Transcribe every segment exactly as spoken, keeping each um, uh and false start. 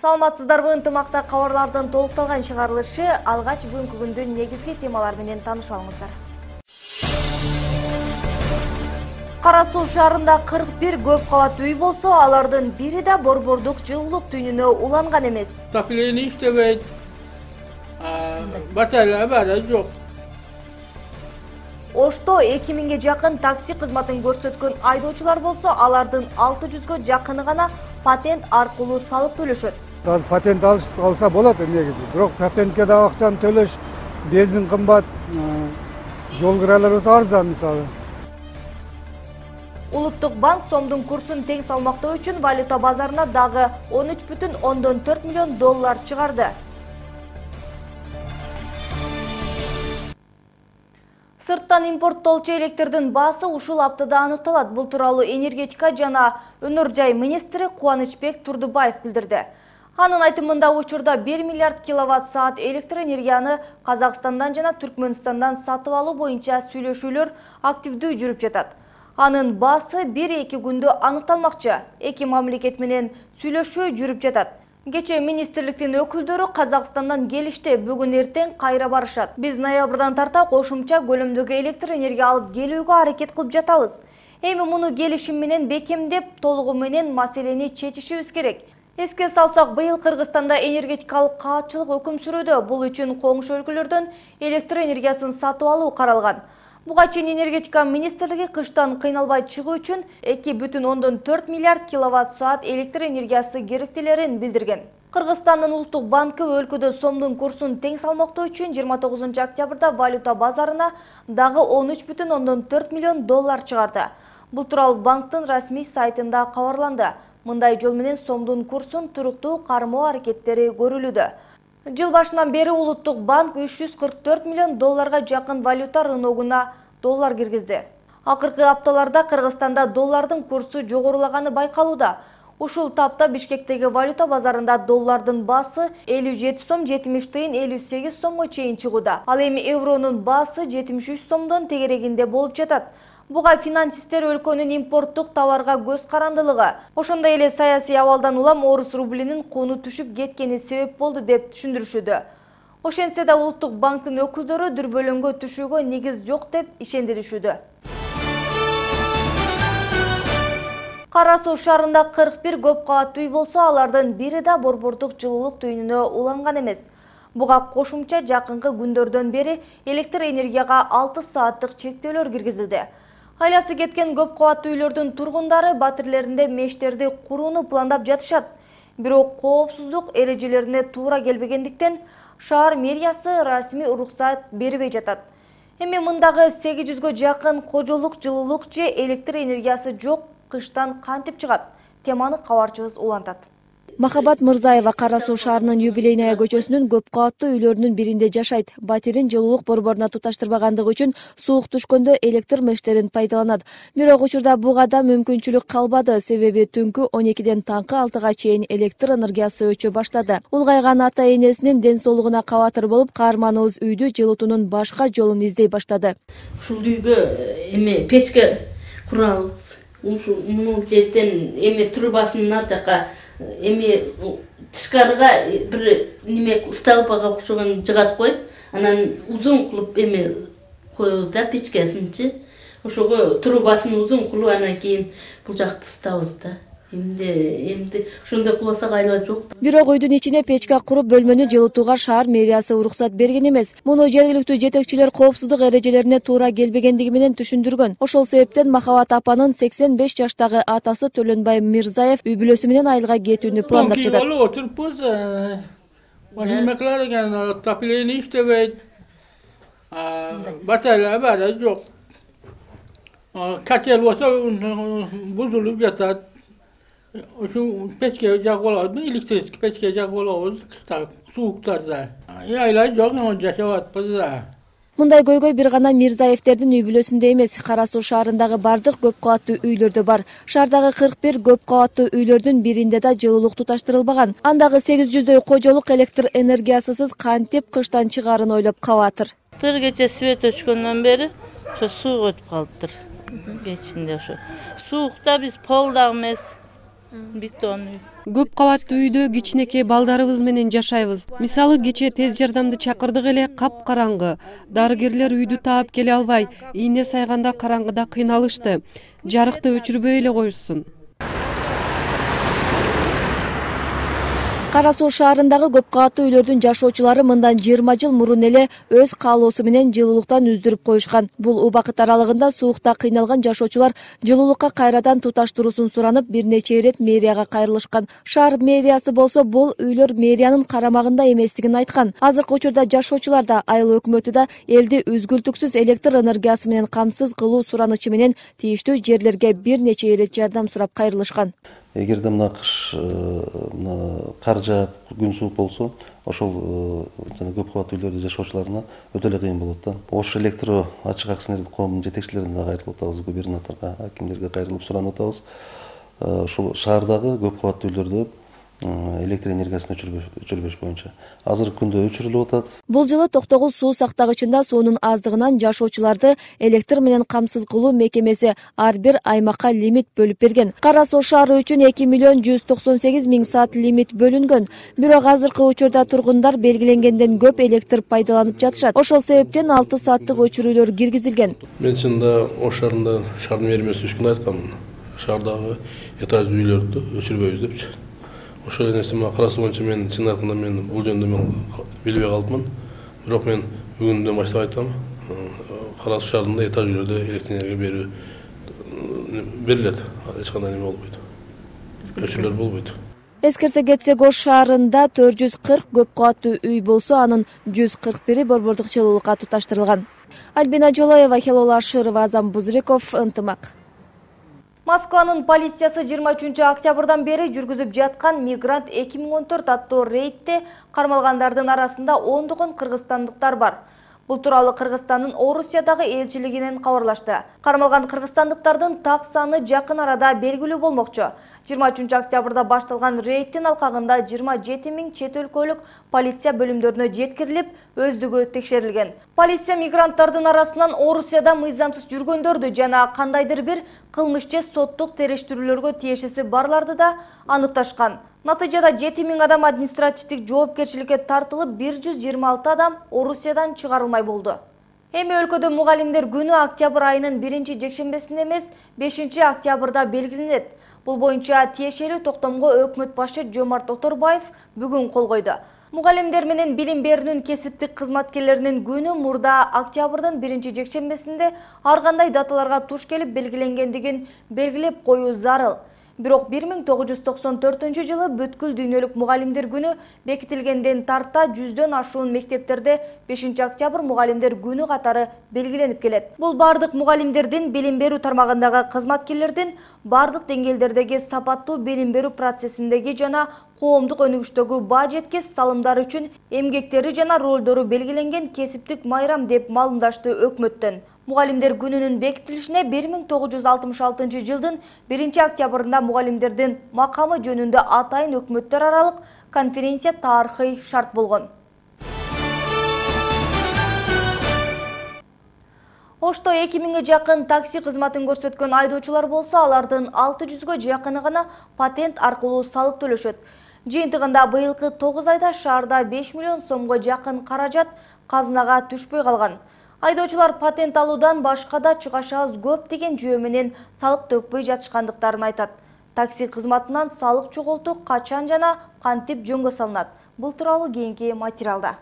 Саламатсыздарбы, ынтымакта кабарлардын толукталган чыгарылышы алгач бүгүнкү күндүн негизги темалары менен таанышып алыңыздар. Кара Суу шаарында кырк бир көп кабаттуу үй болсо, алардын бири да борбордук жылуулук түйүнүнө уланган эмес. Отопление иштебейт. Батарея бар, жок. Ошто эки миңге жакын такси кызматын көрсөткөн айдоочулар болсо, алардын алты жүзгө жакыны гана патент аркылуу салык төлөшөт. Азыр патент алса болот негизи. Бирок патентке да акчаны төлөш, бензин кымбат, жол кыралары арзан мисалы. Улуттук банк сомдун курсун тең салмактоо үчүн валюта базарына дагы он үч бүтүн ондон төрт миллион доллар чыгарды. Сырттан импорттолчу электрдин баасы ушул аптада аныкталат. Бул тууралуу энергетика жана өнөр жай министри Кубанычбек Турдубаев билдирди. Анын айтымында учурда бир миллиард киловатт саат электр энергияны Казакстандан жана Түркмөнстандан сатып алуу боюнча сүйлөшүүлөр активдүү жүрүп жатат. Анын баасы бир-эки күндө аныкталмакчы. Эки мамлекет менен сүйлөшүү жүрүп жатат. Кечээ министрликтин өкүлдөрү Казакстандан келишти, бүгүн эртең кайра барышат. Биз ноябрдан тарта кошумча көлөмдөгү электр энергия алып келүүгө аракет кылып жатабыз. Эми муну келишим менен бекемдеп, толугу менен маселени чечишибиз керек. Эске салсак, быйыл Кыргызстанда энергетикалык каатчылык өкүм сүрүүдө. Бул үчүн коңшу өлкөлөрдөн электр энергиясын сатып алуу каралган. Буга чейин энергетика министрлиги кыштан кыйналбай чыгуу үчүн эки бүтүн ондон төрт миллиард киловатт саат электр энергиясы керектелерин билдирген. Кыргызстандын улуттук банкы өлкөдө сомдун курсун тең салмактоо үчүн жыйырма тогузунчу октябрда валюта базарына дагы он үч бүтүн ондон төрт миллион доллар чыгарды. Бул тууралуу банктын расмий сайтында кабарланды. Мындай жол менен сомдун курсун туруктуу кармоо аракеттери көрүлүүдө. Жыл башынан бери улуттук банк үч жүз кырк төрт миллион долларга жакын валюта рыногуна доллар киргизди. Акыркы апталарда Кыргызстанда доллардын курсу жогорулаганы байкалууда. Ушул тапта Бишкектеги валюта базарында доллардын баасы элүү жети сом жетимиш тыйын элүү сегиз сомго чейин чыгууда. Ал эми евронун баасы жетимиш үч сомдон тегерегинде болуп жатат. Буга финансисттер өлкөнүн импорттук товарга көз карандылыгы, ошондой эле саясий абалдан улам орус рублинин кууну түшүп кеткени себеп болду деп түшүндүрүшүүдө. Ошентсе да улуттук банктын өкүлдөрү дүрбөлөңгө түшүүгө негиз жок деп ишендиришүүдө. Кара Суу шаарында кырк бир көп кабаттуу үй болсо, алардын бири да борбордук жылуулук түйүнүнө уланган эмес. Буга кошумча жакынкы күндөрдөн бери электр энергияга алты сааттык чектөөлөр киргизилди. Айласы кеткен көп кабаттуу үйлөрдүн тургундары батирлеринде мештерди курууну пландап жатышат. Бирок коопсуздук эрежелерине туура келбегендиктен шаар мэриясы расмий уруксат бербей жатат. Эми мындагы сегиз жүзгө жакын кожолук жылуулук же электр энергиясы жок кыштан кантип чыгат? Теманы кабарчыбыз улантат. Махабат Мырзаева Кара Суу шаарынын Юбилейная көчөсүнүн көп кабаттуу үйлөрүнүн биринде жашайт. Батирин жылуулук борборуна туташтырбагандыгы үчүн суук түшкөндө электр мештерин пайдаланат. Бирок учурда буга да мүмкүнчүлүк калбады, себеби түнкү он экиден таңкы алтыга чейин электр энергиясы өчө баштады. Улгайган ата-энесинин ден соолугуна кабатыр болуп, каарманыбыз үйдү жылытуунун башка жолун издей баштады. Ушул үйгө эме печке курабыз. Ушул муну жерден эме трубасын ар жака эми тышкарыга бир неме столбага окшогон жыгач коюп, анан узун кылып эме коебуз да печкесинчи. Ошого трубасын узун кылып, анан кийин бул жакты ысытабыз да. Эмди эмди ошондой кылсак айла жок. Бирок үйдүн ичине печка куруп, бөлмөнү жылытууга шаар мэриясы уруксат берген эмес. Муну жергиликтүү жетекчилер коопсуздук эрежелерине туура келбегендиги менен түшүндүргөн. Ошол себептен Махабат апанын сексен беш жаштагы атасы Төлөнбай Мирзаев үй бүлөсү менен айылга кетүүнү пландап жатат. Отурупбуз, эме кылар экен, отопление иштебейт. Батарея бар, жок. Котел болсо бузулуп жатат. Ошо печке жагып алабыз, электрический печке жагып алабыз кышта, сууктарда. Айла жок, жашап атпыз да. Мындай көйгөй бир гана Мирзаевтердин үй бүлөсүндө эмес, Кара Суу шаарындагы бардык көп кабаттуу үйлөрдө бар. Шаардагы кырк бир көп кабаттуу үйлөрдүн биринде да жылуулук туташтырылбаган. Андагы сегиз жүздөй кожолук электр энергиясысыз кантип кыштан чыгаарын ойлоп кабатыр. Тыр кече свет өчкөндөн бери ошо суук өтүп калыптыр. Кечинде ошо. Суукта биз пол дагы эмес. Бетон үй. Көп кабаттуу үйдө кичинекей балдарыбыз менен жашайбыз. Мисалы кечээ тез жардамды чакырдык эле, капкараңгы. Дарыгерлер үйдү таап келе албай, ийне сайганда караңгыда кыйналышты. Жарыкты өчүрбөй эле коюшсун. Кара Суу шаарындагы көп кабаттуу үйлөрдүн жашоочулары мындан жыйырма жыл мурун эле өз каалоосу менен жылуулуктан үздүрүп коюшкан. Бул убакыт аралыгында суукта кыйналган жашоочулар жылуулукка кайрадан туташтыруусун суранып, бир нече ирет мэрияга кайрылышкан. Шаар мэриясы болсо бул үйлөр мэриянын карамагында эместигин айткан. Азыркы учурда жашоочулар да, айыл өкмөтү да элди үзгүлтүксүз электр энергиясы менен камсыз кылуу суранычы менен тийиштүү жерлерге бир нече ирет жардам сурап кайрылышкан. Эгерде мына кыш кар жаап, күн суук болсо, ошол жана көп кабаттуу үйлөрдө жашоочуларына өтө эле кыйын болот да. Ош электро ачык акционерлик коомунун жетекчилерине кайрылып атабыз, губернаторго, акимдерге кайрылып суранып атабыз. Ушул шаардагы көп кабаттуу үйлөрдө электр энергиясын өчүрбөш боюнча азыркы күндө өчүрүлүп атат. Бул жылы Токтогул суу сактагычында суунун аздыгынан жашоочуларды электр менен камсыз кылуу мекемеси ар бир аймакка лимит бөлүп берген. Кара Суу шаары үчүн эки миллион жүз токсон сегиз миң саат лимит бөлүнгөн. Бирок азыркы учурда тургундар белгиленгенден көп электр пайдаланып жатышат. Ошол себептен алты сааттык өчүрүүлөр киргизилген. Мен чынында Ош шаарында шаардын мэриясы үчүн айткам. Шаардагы этаждуу үйлөрдү өчүрбөйбүз депчи. Ошол нерсе мага Кара Суу боюнча мен чын айтканда мен бул жөнүндө мен билбей калдымын. Бирок мен бүгүндөн баштап айтам, Кара Суу шаарында этаж үйлөрдө электр энергия берүү берилет. Эч кандай неме болбойт. Өчүрүүлөр болбойт. Эскерте кетсек, Ош шаарында төрт жүз кырк көп кабаттуу үй болсо, анын жүз кырк бири борбордук жылуулукка туташтырылган. Альбина Жолоева, Хелола Ашырова, Азам Бузриков, Ынтымак. Москванын полициясы жыйырма үчүнчү октябрдан бери жүргүзүп жаткан Мигрант эки миң он төрт аттуу рейдте кармалгандардын арасында ондогон кыргызстандыктар бар. Бул тууралуу Кыргызстандын Орусиядагы элчилигинен кабарлашты. Кармалган кыргызстандыктардын так саны жакын арада белгилүү болмокчу. жыйырма үчүнчү октябрда башталган рейдтин алкагында жыйырма жети миң чет өлкөлүк полиция бөлүмдөрүнө жеткирилип, өздүгү текшерилген. Полиция мигранттардын арасынан Орусияда мыйзамсыз жүргөндөрдү жана кандайдыр бир кылмыш же соттук териштирүүлөргө тиешеси барларды да аныкташкан. Натыйжада жети миң адам административдик жоопкерчиликке тартылып, бир жүз жыйырма алты адам Орусиядан чыгарылмай болду. Эми өлкөдө мугалимдер күнү октябрь айынын биринчи жекшембесинде эмес, бешинчи октябрда белгиленет. Бул боюнча тиешелүү токтомго өкмөт башы Жомарт Оторбаев бүгүн кол койду. Мугалимдер менен билим берүүнүн кесиптик кызматкерлеринин күнү мурда октябрдын биринчи жекшембесинде ар кандай даталарга туш келип белгиленгендигин белгилеп коюу зарыл. Бирок бир миң тогуз жүз токсон төртүнчү жылы бүткүл дүйнөлүк мугалимдер күнү бекитилгенден тарта жүздөн ашуун мектептерде бешинчи октябрь мугалимдер күнү катары белгиленип келет. Бул бардык мугалимдердин, билим берүү тармагындагы кызматкерлердин бардык деңгээлдердеги сапаттуу билим берүү процессиндеги жана коомдук өнүгүштөгү баа жеткис салымдары үчүн эмгектери жана ролдору белгиленген кесиптик майрам деп маалымдашты өкмөттөн. Мугалимдер күнүнүн бекитилишине бир миң тогуз жүз алтымыш алтынчы жылдын биринчи октябрында мугалимдердин макамы жөнүндө атайын өкмөттөр аралык конференция тарыхый шарт болгон. Ошто эки миңге жакын такси кызматын көрсөткөн айдоочулар болсо, алардын алты жүзгө жакыны гана патент аркылуу салык төлөшөт. Жыйынтыгында быйылкы тогуз айда шаарда беш миллион сомго жакын каражат казынага түшпөй калган. Айдоочулар патент алуудан башка да чыгашабыз көп деген жөө менен салык төкпөй жатышкандыктарын айтат. Такси кызматынан салык чогултуу качан жана кантип жөнгө салынат? Бул тууралуу кийинки материалда.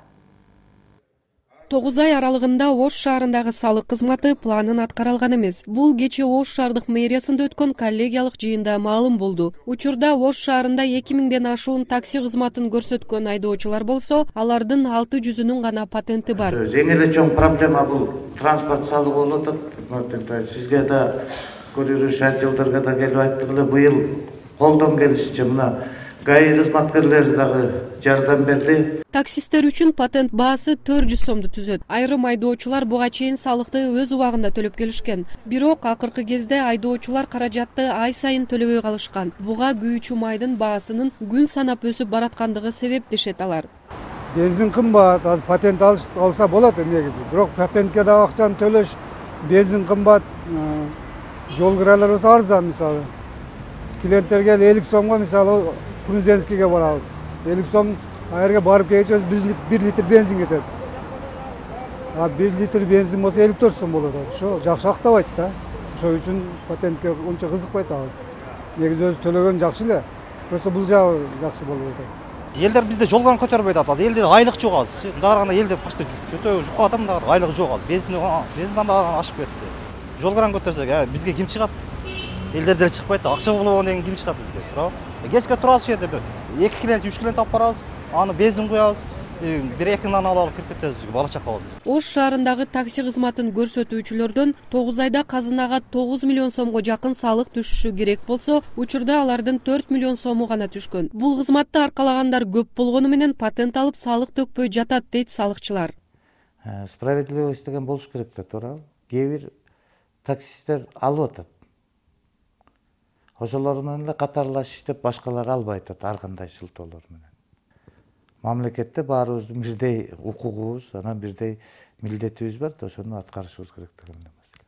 тогуз ай аралыгында Ош шаарындагы салык кызматы планын аткара алган эмес. Бул кечээ Ош шаардык мэриясында өткөн коллегиялык жыйында маалым болду. Учурда Ош шаарында эки миңден ашуун такси кызматын көрсөткөн айдоочулар болсо, алардын алты жүзүнүн гана патенти бар. Эң эле чоң проблема бул транспорт салыгы болуп атат. Сизге да көрүрүш жылдарга да келип айттык эле, быйыл колдон келишинче мына ГАИ кызматкерлери дагы жардам берди. Таксисттер үчүн патент баасы төрт жүз сомду түзөт. Айрым айдоочулар буга чейин салыкты өз убагында төлөп келишкен. Бирок акыркы кезде айдоочулар каражатты ай сайын төлөбөй калышкан. Буга күйүүчү майдын баасынын күн санап өсүп бараткандыгы себеп дешет алар. Бензин кымбат, аз патент алса болот негизи. Бирок патентке да акчаны төлөш, бензин кымбат, жол кыраларыбыз арзан мисалы. клиенттерге элүү сомго мисалы Фрунзенскийге барабыз. элүү сом айерге барып келгенче бир литр бензин кетет. А бир литр бензин болсо элүү төрт сом болот. Ошо жакшы актабайт да. Ошол үчүн патентке ончо кызыкпайт абыз. Негизи өзү төлөгөн жакшы эле. Просто бул жагы жакшы болуп атат. Элдер бизде жолган көтөрбөйт атат. Элде айлык жок азыр. Мындай караганда элде почти жөтө жукка атам да айлык жок азыр. Бензин бензиндан да ашып кетти. Жолган көтөрсөк, бизге ким чыгат? Элдер деле чыкпайт да. Акча болгон деген ким чыгат бизге, туурабы? Кечке турабыз жерде бир эки клиент, үч клиент алып барабыз. Аны бензин куябыз. бир эки нан алып кирип кетебиз, бала чакабыз. Ош шаарындагы такси кызматын көрсөтүүчүлөрдөн тогуз айда казынага тогуз миллион сомго жакын салык түшүшү керек болсо, учурда алардын төрт миллион сому гана түшкөн. Бул кызматты аркалагандар көп болгону менен патент алып салык төкпөй жатат дейт салыкчылар. Справедливость деген болуш керек да, туурабы? Кээ бир таксисттер алып атат. Ошолор менен эле катарлаш иштеп, башкалар албай атат ар кандай шылтоолор менен. Мамлекетте баарыбыздын бирдей укугубуз, анан бирдей милдетибиз бар да, ошону аткарышыбыз керек деген маселе.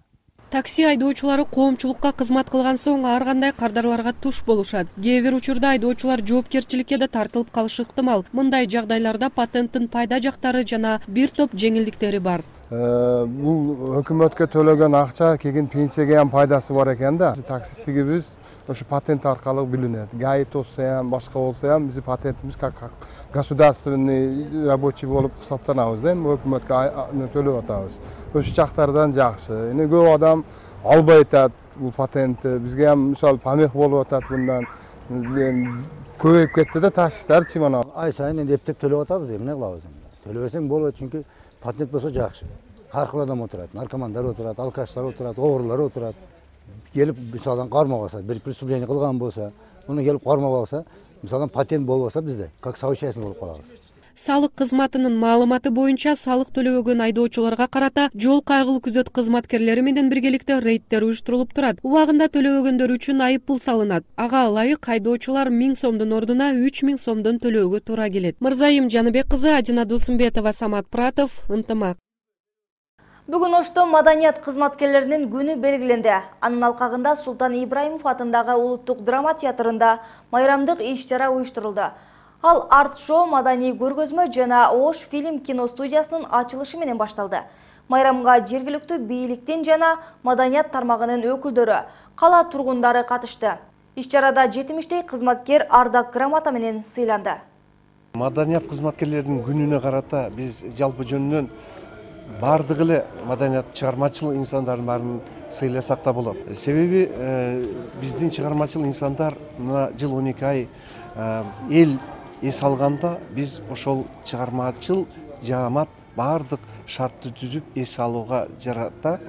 Такси айдоочулары коомчулукка кызмат кылган соң ар кандай кардарларга туш болушат. Кээ бир учурда айдоочулар жоопкерчиликке да тартылып калышы ыктымал. Мындай жагдайларда патенттин пайда жактары жана бир топ жеңилдиктери бар. Бул өкмөткө төлөгөн акча кийин пенсияга ham пайдасы бар экен да. Таксисттигибиз ошо патент аркылуу билинет. ГАИ болсо ham, башка болсо ham биздин патентибиз как государственный рабочий болуп касаптанабыз да, эми өкмөткө төлөп атабыз. Ошо жактардан жакшы. Эми көп адам албай атат бул патентти. Бизге ham мисалы помех болуп атат мындан. Көбөйүп кетти да таксистерчи мына. Ай сайын эми эптеп төлөп атабыз, эмне кылабыз эми? Төлөбөсөң болбойт, чүнкү патент болсо жакшы. Ар кыл адам отурат, наркомандар отурат, алкаштар отурат, оорулар отурат. Келип мисалдан кармап алса, бир преступление кылган болсо, муну келип кармап алса, мисалдан патент болбосо бизде как соучастник болуп калабыз. Салык кызматынын маалыматы боюнча салык төлөбөгөн айдоочуларга карата жол кайгылуу күзөт кызматкерлери менен биргеликте рейдтер уюштурулуп турат. Убагында төлөбөгөндөр үчүн айып пул салынат. Ага ылайык айдоочулар миң сомдун ордуна үч миң сомдон төлөөгө туура келет. Мырзайым Жаныбек кызы, Адина Досумбетова, Самат Пратов, Ынтымак. Бүгүн Ошто маданият кызматкерлеринин күнү белгиленди. Анын алкагында Султан Ибраимов атындагы Улуттук драма театрында майрамдык иш-чара уюштурулду. Ал арт-шоу, маданий көргөзмө жана Ош фильм кино студиясынын ачылышы менен башталды. Майрамга жергиликтүү бийликтин жана маданият тармагынын өкүлдөрү, кала тургундары катышты. Иш-чарада жетимиштей кызматкер ардак грамота менен сыйланды. Маданият кызматкерлеринин күнүнө карата биз жалпы жөнүнөн бардыгы эле маданият чыгармачыл инсандардын баарын сыйласак да болот. Себеби биздин чыгармачыл инсандар мына жыл он эки ай эл эс алганда биз ошол чыгармачыл жаамат бардык шартты түзүп эс алууга жарата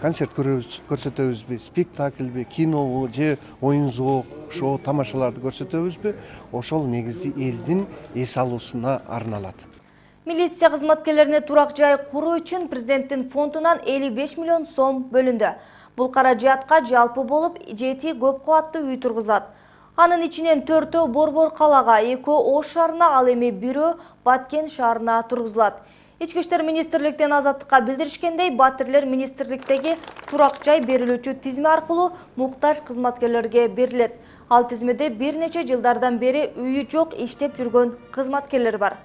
концерт көрсөтөбүзбү, спектакльби, кинобу же оюн зоок, шоу, тамашаларды көрсөтөбүзбү, ошол негизи элдин эс алуусуна арналат. Милиция кызматкерлерине турак жай куруу үчүн президенттин фондунан элүү беш миллион сом бөлүндү. Бул каражатка жалпы болуп жети көп кабаттуу үй тургузат. Анын ичинен төртөө Борбор калаага, экөө Ош шаарына, ал эми бирөө Баткен шаарына тургузулат. Ички иштер министрликтен Азаттыкка билдиришкендей, Батирлер министрликтеги турак жай берилүүчү тизме аркылуу муктаж кызматкерлерге берилет. Ал тизмеде бир нече жылдардан бери үйү жок иштеп жүргөн кызматкерлер бар.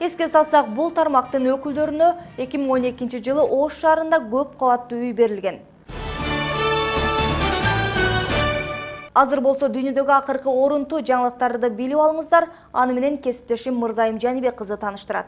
Эске салсак, бул тармактын өкүлдөрүнө эки миң он экинчи жылы Ош шаарында көп кабаттуу үй берилген. Азыр болсо дүйнөдөгү акыркы орунтуу жаңылыктарды билип алыңыздар. Аны менен кесиптешим Мырзайым Жаныбек кызы тааныштырат.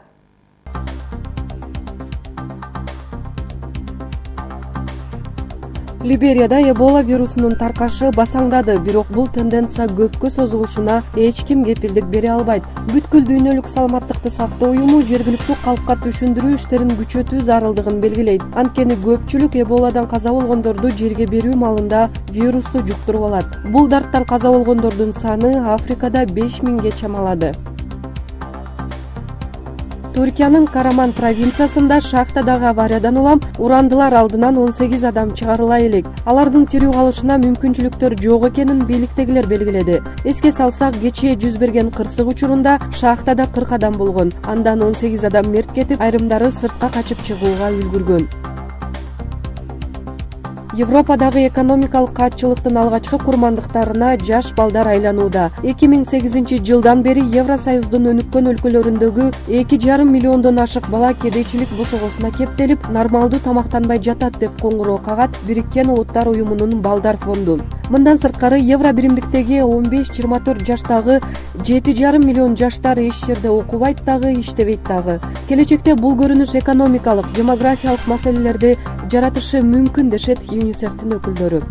Либерияда Эбола вирусунун таркашы басаңдады, бирок бул тенденция көпкө созулушуна эч ким кепилдик бере албайт. Бүткүл дүйнөлүк саламаттыкты сактоо уюму жергиликтүү калкка түшүндүрүү иштерин күчөтүү зарылдыгын белгилейт. Анткени көпчүлүк Эболадан каза болгондорду жерге берүү маалында вирусту жуктуруп алат. Бул дарттан каза болгондордун саны Африкада беш миңге чамалады. Түркиянын Караман провинциясында шахтадагы авариядан улам урандылар алдынан он сегиз адам чыгарыла элек. Алардын тирүү калышына мүмкүнчүлүктөр жок экенин бийликтегилер белгиледи. Эске салсак, кечээ жүз берген кырсык учурунда шахтада кырк адам болгон. Андан он сегиз адам мерт кетип, айрымдары сыртка качып чыгууга үлгүргөн. Европадагы экономикалык катчылыктын алгачкы курмандыктарына жаш балдар айланууда. эки миң сегизинчи жылдан бери Евросоюздун өнүккөн өлкөлөрүндөгү эки жарым миллиондон ашык бала кедейчилик босогосуна кептелип, нормалдуу тамактанбай жатат деп коңгуроо кагат Бириккен Улуттар уюмунун балдар фонду. Мындан сырткары евро биримдиктеги он беш жыйырма төрт жаштагы жети жарым миллион жаштар эч жерде окубайт дагы, иштебейт дагы. Келечекте бул көрүнүш экономикалык, демографиялык маселелерди жаратышы мүмкүн дешет ЮНИСЕФтин өкүлдөрү.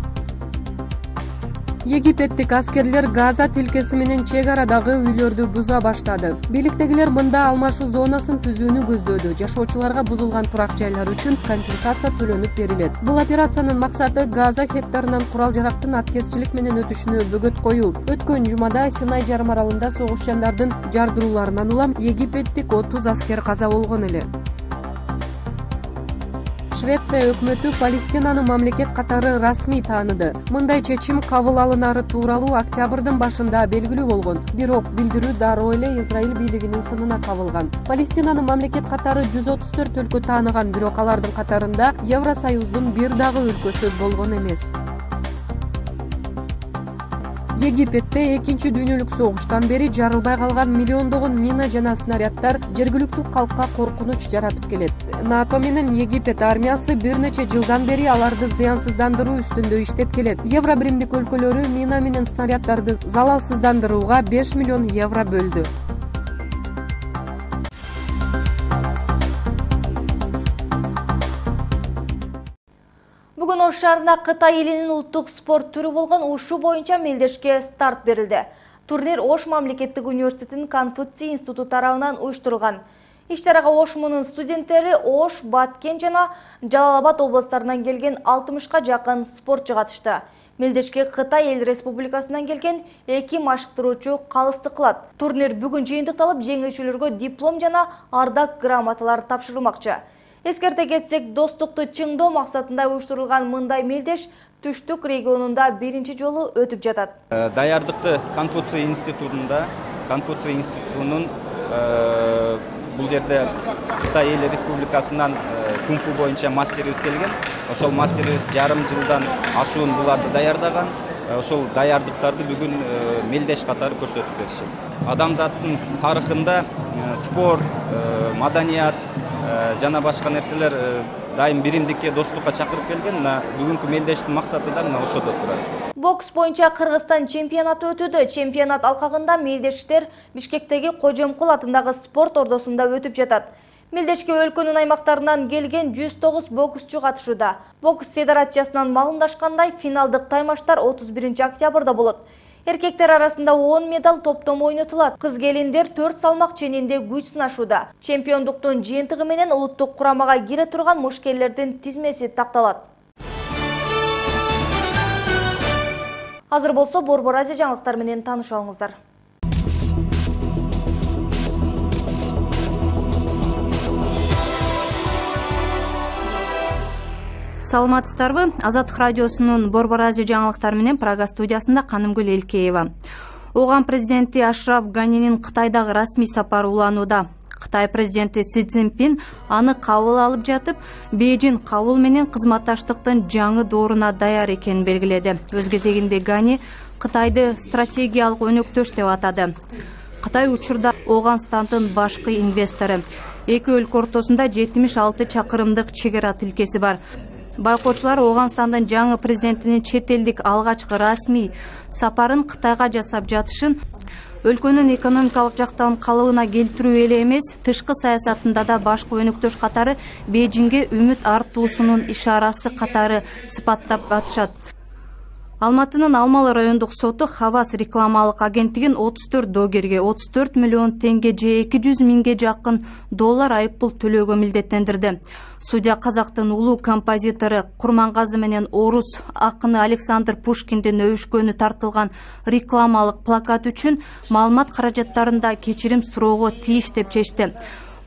Египеттик аскерлер Газа тилкеси менен чек арадагы үйлөрдү буза баштады. Бийликтегилер мында алмашуу зонасын түзүүнү көздөөдү. Жашоочуларга бузулган турак жайлар үчүн компенсация төлөнүп берилет. Бул операциянын максаты Газа секторунан курал-жарактын аткезчилик менен өтүшүнө бөгөт коюу. Өткөн жумада Синай жарым аралында согушчандардын жардырууларынан улам египеттик отуз аскер каза болгон эле. Швеция өкмөтү Палестинаны мамлекет катары расмий тааныды. Мындай чечим кабыл алынары тууралуу октябрдын башында белгилүү болгон. Бирок билдирүү дароо эле Израиль бийлигинин сынына кабылган. Палестинаны мамлекет катары жүз отуз төрт өлкө тааныган, бирок алардын катарында Евросоюздун бир дагы өлкөсү болгон эмес. Египетте экинчи дүйнөлүк согуштан бери жарылбай калган миллиондогон мина жана снаряддар жергиликтүү калкка коркунуч жаратып келет. НАТО менен Египет армиясы бир нече жылдан бери аларды зыянсыздандыруу үстүндө иштеп келет. Евро биримдик өлкөлөрү мина менен снаряддарды залалсыздандырууга беш миллион евро бөлдү. Бүгүн Ош шаарында Кытай элинин улуттук спорт түрү болгон ушу боюнча мелдешке старт берилди. Турнир Ош мамлекеттик университетинин Конфуций институту тарабынан уюштурулган. Иш-чарага Ош мунун студенттери Ош, Баткен жана Жалал Абад областарынан келген алтымышка жакын спортчу катышты. Мелдешке Кытай эл республикасынан келген эки машыктыруучу калысты кылат. Турнир бүгүн жыйынтыкталып, жеңүүчүлөргө диплом жана ардак грамоталар тапшырылмакчы. Эскерте кетсек, достукту чыңдоо максатында уюштурулган мындай мелдеш түштүк регионунда биринчи жолу өтүп жатат. Даярдыкты Конфуций институтунда, Конфуций институтунун бул жерде Кытай эл республикасынан кунг-фу боюнча мастерибиз келген. Ошол мастерибиз жарым жылдан ашуун буларды даярдаган. Ошол даярдыктарды бүгүн мелдеш катары көрсөтүп беришет. Адамзаттын тарыхында спорт, маданият жана башка нерселер дайым биримдикке, достукка чакырып келген. Бүгүнкү мелдештин максаты да мына ошодо турат. Бокс боюнча Кыргызстан чемпионаты өтүүдө. Чемпионат алкагында мелдештер Бишкектеги Кожомкул атындагы спорт ордосунда өтүп жатат. Мелдешке өлкөнүн аймактарынан келген жүз тогуз боксчу катышууда. Бокс федерациясынан маалымдашкандай, финалдык таймаштар отуз биринчи октябрда болот. Эркектер арасында он медаль топтому ойнотулат. Кыз-келиндер төрт салмак ченинде күч сынашууда. Чемпиондуктун жыйынтыгы менен улуттук курамага кире турган мушкерлердин тизмеси такталат. Азыр болсо Борбор Азия жаңылыктары менен таанышып алыңыздар. Саламатсыздарбы? Азаттык радиосунун Борбор Азия жаңылыктары менен Прага студиясында Канымгүл Элкеева. Оган президенти Ашраф Ганинин Кытайдагы расмий сапары уланууда. Кытай президенти Си Цзиньпин аны кабыл алып жатып, Бейжин кабыл менен кызматташтыктын жаңы дооруна даяр экенин белгиледи. Өз кезегинде Гани Кытайды стратегиялык өнөктөш деп атады. Кытай учурда Оганстандын башкы инвестору. Эки өлкө ортосунда жетимиш алты чакырымдык чек ара тилкеси бар. Байкоочулар Оганстандын жаңы президентинин чет элдик алгачкы расмий сапарын Кытайга жасап жатышын өлкөнүн экономикалык жактан калыбына келтирүү эле эмес, тышкы саясатында да башкы өнөктөш катары Бейжиңге үмүт артуусунун ишарасы катары сыпаттап атышат. Алматынын Алмалы райондук соту Хавас рекламалык агенттигин отуз төрт доогерге отуз төрт миллион теңге же эки жүз миңге жакын доллар айыппул төлөөгө милдеттендирди. Судья казактын улуу композитору Курмангазы менен орус акыны Александр Пушкиндин өбүшкөнү тартылган рекламалык плакат үчүн маалымат каражаттарында кечирим суроого тийиш деп чечти.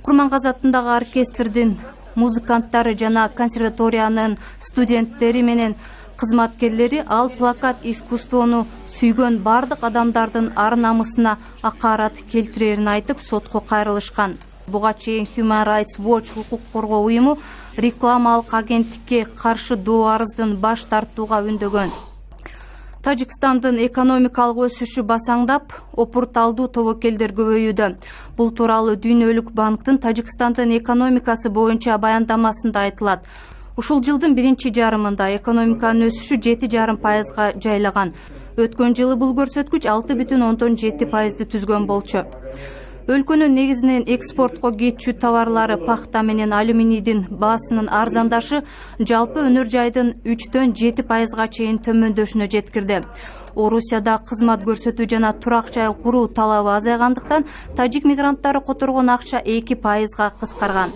Курмангазы атындагы оркестрдин музыканттары жана консерваториянын студенттери менен кызматкерлери ал плакат искусствону сүйгөн бардык адамдардын ар намысына акарат келтирерин айтып сотко кайрылышкан. Буга чейин Human Rights Watch укук коргоо уюму рекламалык агенттикке каршы доо арыздын баш тартууга үндөгөн. Тажикстандын экономикалык өсүшү басаңдап, опурталдуу тобокелдер көбөйүүдө. Бул тууралуу Дүйнөлүк банктын Тажикстандын экономикасы боюнча баяндамасында айтылат. Ушул жылдын биринчи жарымында экономиканын өсүшү жети жарым пайызга жайлаган. Өткөн жылы бул көрсөткүч алты бүтүн ондон жети пайызды түзгөн болчу. Өлкөнүн негизинен экспортко кетчү товарлары пахта менен алюминийдин баасынын арзандашы жалпы өнөр жайдын үчтөн жети пайызга чейин төмөндөшүнө жеткирди. Орусияда кызмат көрсөтүү жана турак жай куруу талабы азайгандыктан тажик мигранттары которгон акча эки пайызга кыскарган.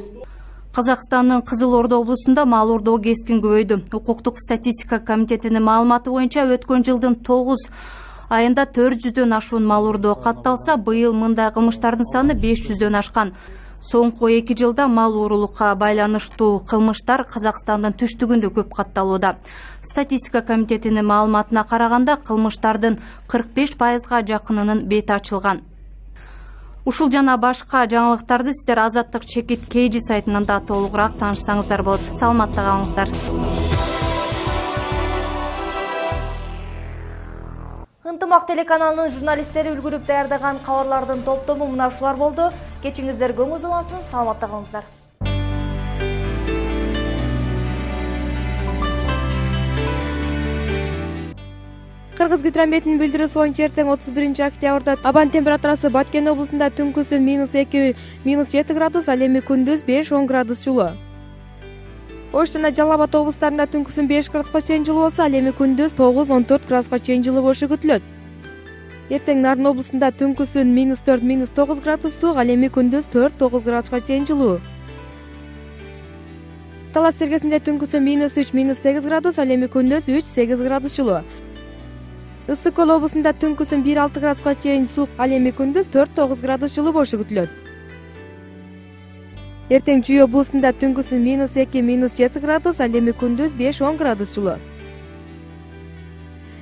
Казакстандын Кызыл Ордо облусунда мал ордоо кескин көбөйдү. Укуктук статистика комитетинин маалыматы боюнча өткөн жылдын тогуз айында төрт жүздөн ашуун мал ордоо катталса, быйыл мындай кылмыштардын саны беш жүздөн ашкан. Соңку эки жылда мал уурулукка байланыштуу кылмыштар Казакстандын түштүгүндө көп катталууда. Статистика комитетинин маалыматына караганда, кылмыштардын кырк беш пайызга жакынынын бети ачылган. Ушул жана башка жаңылыктарды сиздер Азаттык чекит Кейжи сайтынан да толугураак таанышсаңыздар болот. Саламатта калыңыздар. Ынтымак телеканалынын журналисттери үлгүрүп даярдаган кабарлардын топтому мына ушулар болду. Кечиңиздер көңүл булансын, саламатта калыңыздар. Кыргыз гидрометинин билдирүүсү боюнча эртең отуз биринчи октябрда абан температурасы Баткен облусунда түнкүсүн минус эки минус жети градус, ал эми күндүз беш он градус жылуу. Ош жана Жалал Абад облустарында түнкүсүн беш градуска чейин жылуу болсо, ал эми күндүз тогуз он төрт градуска чейин жылуу болушу күтүлөт. Эртең Нарын облусунда түнкүсүн минус төрт минус тогуз градус суук, ал эми күндүз төрт тогуз градуска чейин жылуу. Талас Сергесинде түнкүсүн минус үч минус сегиз градус, ал эми күндүз үч сегиз градус жылуу. Ысык Көл облусунда түнкүсүн бир алты градуска чейин суук, ал эми күндүз төрт тогуз градус жылуу болушу күтүлөт. Эртең Чүй облусунда түнкүсүн минус эки минус жети градус, ал эми күндүз беш он градус жылуу.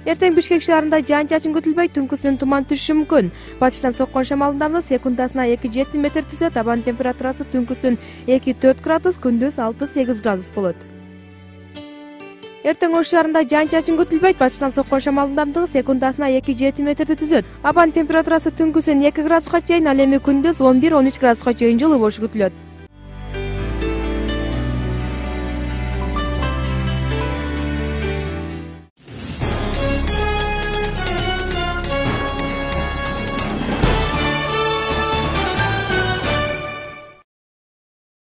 Эртең Бишкек шаарында жаан-чачын күтүлбөйт, түнкүсүн туман түшүшү мүмкүн. Батыштан соккон шамалдын ылдамдыгы секундасына эки жети метр түзөт, абан температурасы түнкүсүн эки төрт градус, күндүз алты сегиз градус болот. Эртең Ош шаарында жаан-чачын күтүлбөйт, батыштан соккон шамалдын ылдамдыгы секундасына эки жети метрди түзөт. Абан температурасы түнкүсүн эки градуска чейин, ал эми күндүз он бир он үч градуска чейин жылуу болушу күтүлөт.